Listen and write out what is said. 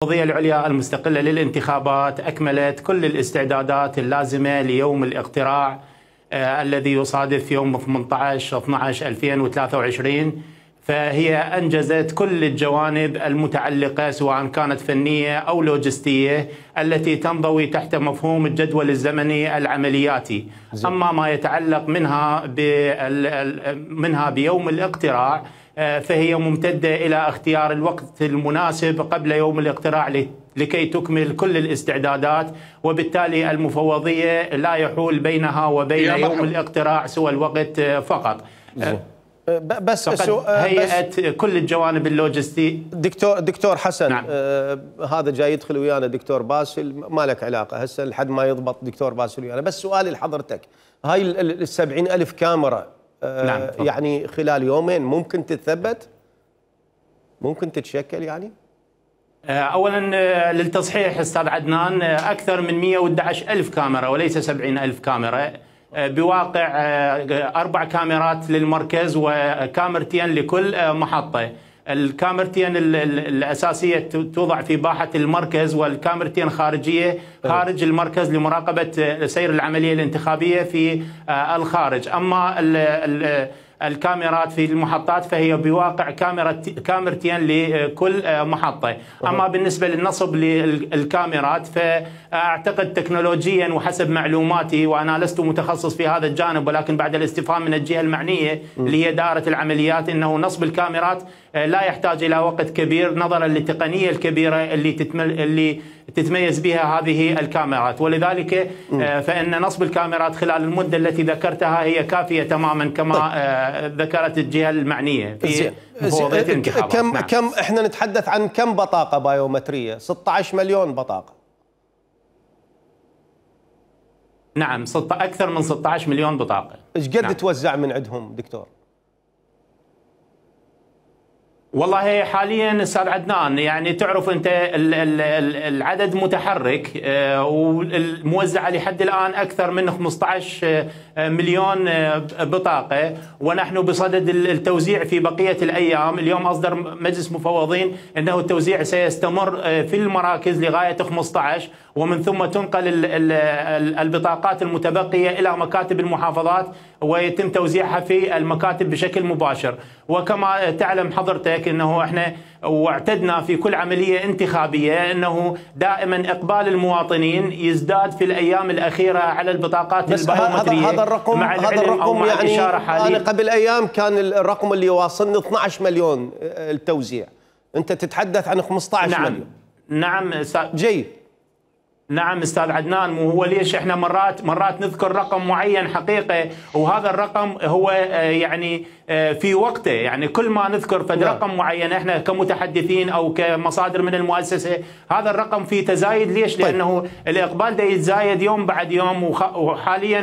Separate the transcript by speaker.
Speaker 1: المفوضية العليا المستقلة للانتخابات أكملت كل الاستعدادات اللازمة ليوم الاقتراع الذي يصادف يوم 18/12/2023. فهي أنجزت كل الجوانب المتعلقة سواء كانت فنية أو لوجستية التي تنضوي تحت مفهوم الجدول الزمني العملياتي. أما ما يتعلق منها بيوم الاقتراع فهي ممتدة إلى اختيار الوقت المناسب قبل يوم الاقتراع لكي تكمل كل الاستعدادات، وبالتالي المفوضية لا يحول بينها وبين يوم الاقتراع سوى الوقت فقط.
Speaker 2: بس
Speaker 1: هيئة كل الجوانب اللوجستية.
Speaker 2: دكتور حسن،
Speaker 1: نعم.
Speaker 2: هذا جاي يدخل ويانا دكتور باسل، ما لك علاقة هسه لحد ما يضبط دكتور باسل ويانا. بس سؤالي لحضرتك، هاي 70,000 كاميرا
Speaker 1: نعم.
Speaker 2: يعني خلال يومين ممكن تتثبت؟ ممكن تتشكل يعني؟
Speaker 1: أولا للتصحيح أستاذ عدنان، أكثر من 111,000 كاميرا وليس 70,000 كاميرا، بواقع 4 كاميرات للمركز وكاميرتين لكل محطة. الكاميرتين الأساسية توضع في باحة المركز، والكاميرتين خارجية خارج المركز لمراقبة سير العملية الانتخابية في الخارج. أما الكاميرات في المحطات فهي بواقع كاميرتين لكل محطة. أما بالنسبة للنصب للكاميرات فأعتقد تكنولوجيا وحسب معلوماتي، وأنا لست متخصص في هذا الجانب ولكن بعد الاستفهام من الجهة المعنية اللي هي دائرة العمليات، أنه نصب الكاميرات لا يحتاج إلى وقت كبير نظرا للتقنية الكبيرة اللي تتميز بها هذه الكاميرات، ولذلك فإن نصب الكاميرات خلال المدة التي ذكرتها هي كافية تماما كما ذكرت الجهة المعنية في مفوضية الانتخابات.
Speaker 2: كم احنا نتحدث عن كم بطاقة بايومترية؟ 16 مليون بطاقة.
Speaker 1: نعم، أكثر من 16 مليون بطاقة.
Speaker 2: ايش قد توزع من عندهم دكتور؟
Speaker 1: والله حاليا استاذ عدنان، يعني تعرف انت العدد متحرك، والموزعه لحد الان اكثر من 15 مليون بطاقه، ونحن بصدد التوزيع في بقيه الايام. اليوم اصدر مجلس مفوضين انه التوزيع سيستمر في المراكز لغايه 15، ومن ثم تنقل البطاقات المتبقيه الى مكاتب المحافظات ويتم توزيعها في المكاتب بشكل مباشر. وكما تعلم حضرتك انه احنا واعتدنا في كل عمليه انتخابيه انه دائما اقبال المواطنين يزداد في الايام الاخيره على البطاقات البيومتريه.
Speaker 2: هذا الرقم يعني انا قبل ايام كان الرقم اللي واصلني 12 مليون التوزيع، انت تتحدث عن 15 مليون.
Speaker 1: نعم
Speaker 2: جيد.
Speaker 1: نعم استاذ عدنان، مو هو ليش احنا مرات نذكر رقم معين حقيقه، وهذا الرقم هو يعني في وقته، يعني كل ما نذكر فد رقم معين احنا كمتحدثين او كمصادر من المؤسسه هذا الرقم فيه تزايد. ليش؟ لانه الاقبال ده يتزايد يوم بعد يوم، وحاليا